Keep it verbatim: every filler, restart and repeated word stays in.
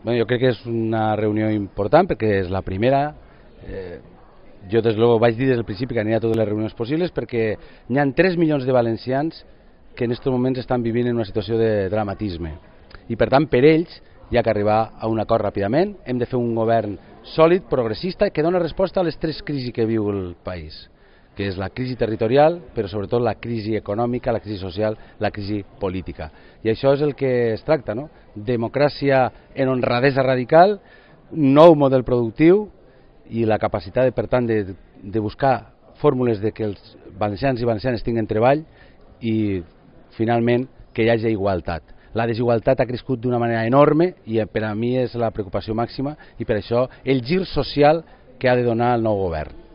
Bueno, jo crec que és una reunió important perquè és la primera. Eh, jo des de luego vaig dir des del principi que aniria a totes les reunions possibles perquè hi ha tres milions de valencians que en aquests moments estan vivint en una situació de dramatisme i per tant per ells hi ha que arribar a un acord ràpidament. Hem de fer un govern sòlid, progressista, que dona resposta a les tres crisis que viu el país, que és la crisi territorial, però sobretot la crisi econòmica, la crisi social, la crisi política. I això és el que es tracta, no? Democràcia en honradesa radical, nou model productiu i la capacitat, per tant, de, de buscar fórmules de que els valencians i valencianes tinguin treball i, finalment, que hi hagi igualtat. La desigualtat ha crescut d'una manera enorme i per a mi és la preocupació màxima i per això el gir social que ha de donar el nou govern.